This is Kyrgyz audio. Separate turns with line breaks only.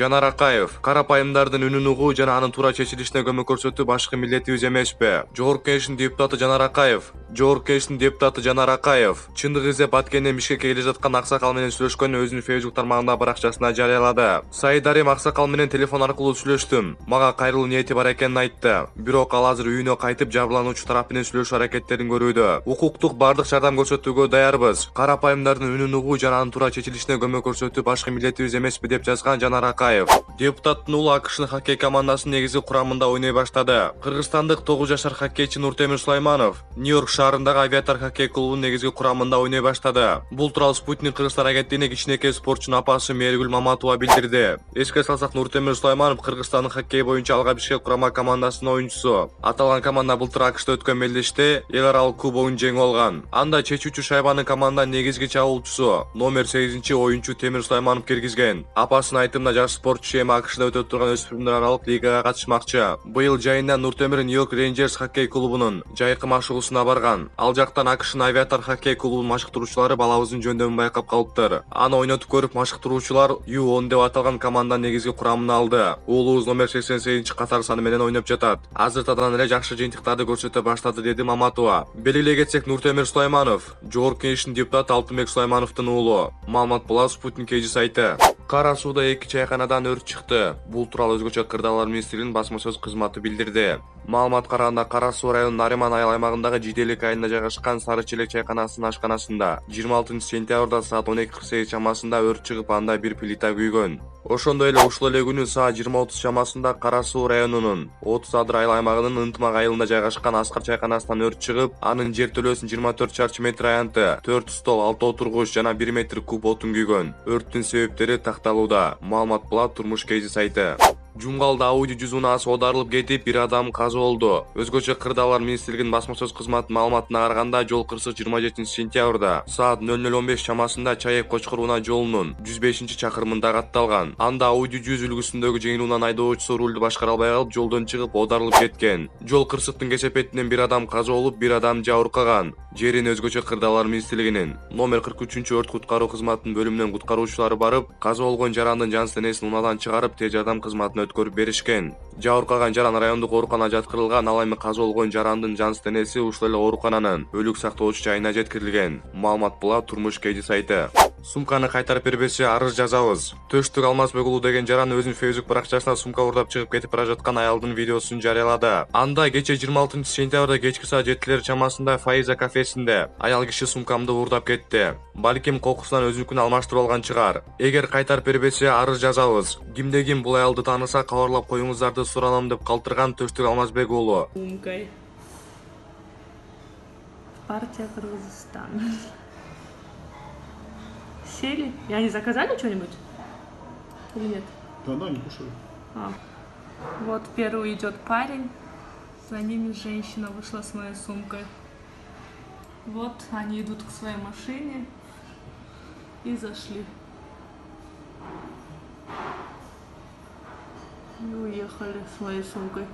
Жанар Акаев, карапайымдардын үнүн угуу жана анын туура чечилишине көмөк көрсөтүү башкы милдетибиз эмеспи? Жогорку Кеңештин депутаты Жанар Акаев. Чындык издеп Баткенден Бишкекке келе жаткан аксакал менен сүйлөшкөнүн өзүнүн Facebook тармагындагы баракчасына жарыялады. Саидарим аксакал менен телефон аркылуу сүйлөштүм. Мага кайрылуу ниети бар экенин айтты. Бирок ал азыр үйүнө кайтып жабырлануучу тарап менен сүйлөшүү аракеттерин көрүүдө. Укуктук бардык жардам көрсөтүүгө даярбыз. Карапайымдардын үнүн угуу жана анын туура чечилишине көмөк көрсөтүү башкы милдетибиз эмеспи деп жазган Жанар Акаев. Депутаттын уулу АКШнын хоккей командасынын негизги курамында ойной баштады. Кыргызстандык 9 жашар хоккейчи Нуртемир Сулайманов Нью-Йорк шаарындагы Авиатор хоккей клубунун негизги курамында ойной баштады. Бул тууралуу Спутник Кыргызстан агенттигине кичинекей спортчунун апасы Мээргүл Маматова билдирди. Эске салсак, Нуртемир Сулайманов Кыргызстандын хоккей боюнча Алга Бишкек курама командасынын оюнчусу. Аталган команда былтыр АКШта өткөн мелдеште эл аралык кубогун жеңип алган. Анда чечүүчү шайбаны команданын негизги чабуулчусу номер 8 оюнчу Темир Сулайманов киргизген. Апасынын айтымында, жаш спортчу эми АКШда өтүп турган өспүрүмдөр аралык лигага катышмакчы. Быйыл жайында Нуртемир Нью-Йорк Рейнджерс хоккей клубунун жайкы машыгуусуна барган. Ал жактан АКШнын Авиатор хоккей клубунун машыктыруучулары балабыздын жөндөмүн байкап калыптыр. Аны ойнотуп көрүп, машыктыруучулар U10 деп аталган команданын негизги курамына алды. Уулубуз номер 88 катар саны менен ойноп жатат. Азыртадан эле жакшы жыйынтыктарды көрсөтө баштады, деди Маматова. Белгилей кетсек, Нуртемир Сулайманов Жогорку Кеңештин депутаты Алтынбек Сулаймановдун уулу. Маалымат булат Спутник KG сайты. Кара сууда 2 чайканадан өрт чыкты. Бул тууралуу өзгөчө Кырдаалар министрлигинин басма сөз кызматы билдирди. Маалыматка караганда, Кара суу районунун Нариман айыл аймагындагы Жиделик айылында жайгашкан Сары Челек чайканасынын ашканасында 26 сентябрда саат 12:48 чамасында өрт чыгып, анда бир плита күйгөн. Ошондой эле ушул эле күнү саат 20:30 чамасында Кара суу районунун 30 Адыр айыл аймагынын Ынтымак айылында жайгашкан Аскар чайканасынан өрт чыгып, анын жертөлөөсүн 24 чарчы метр аянты, 4 стол, 6 отургуч жана 1 метр куб отун күйгөн. Өрттүн себептери такталууда. Маалымат булат Турмуш KG сайты. Жумгалда Audi 100 унаасы оодарылып кетип, бир адам каза болду. Өзгөчө Кырдаалар министрлигинин басма сөз кызматынын маалыматына караганда, жол кырсык 27 сентябрда саат 00:15 чамасында Чаек-Кочкор унаа жолунун 105-чакырымында катталган. Анда Audi 100 үлгүсүндөгү жеңил унаа айдоочусу рулду башкара албай калып, жолдон чыгып, оодарылып кеткен. Жол кырсыктын кесепетинен бир адам каза болуп, бир адам жабыркаган. Жерин өзгөчө Кырдаалар министрлигинин номер 43 өрт куткаруу кызматынын бөлүмүнөн куткаруучулары барып, каза болгон жарандын жан денесин унаадан чыгарып, тез жардам кызматына өткөрүп беришкен. Жабыркаган жаран райондук ооруканага жаткырылган, ал эми каза болгон жарандын жан денеси ушул эле оорукананын өлүк сактоочу жайына жеткирилген. Маалымат булат Турмуш KG сайты. Сумканы кайтарып бербесе арыз жазабыз. Төштүк Алмазбек уулу деген жаран өзүнүн Facebook баракчасына сумка уурдап чыгып кетип бара жаткан аялдын видеосун жарыялады. Анда кечээ 26 сентябрда кечки саат 7 чамасында Фаиза кафесинде аял киши сумкамды уурдап кетти. Балким кокусунан өзүнүкүн алмаштырып алган чыгар. Эгер кайтарып бербесе арыз жазабыз. Кимде ким бул аялды тааныса кабарлап коюңуздарды суранам, деп калтырган Төштүк Алмазбек уулу.
Сумкой. Партия Кыргызстан. Сели? И они заказали что-нибудь? Или нет?
Да, не кушали.
Вот первый идет парень, за ними женщина вышла с моей сумкой. Вот они идут к своей машине и зашли. И уехали с моей сумкой.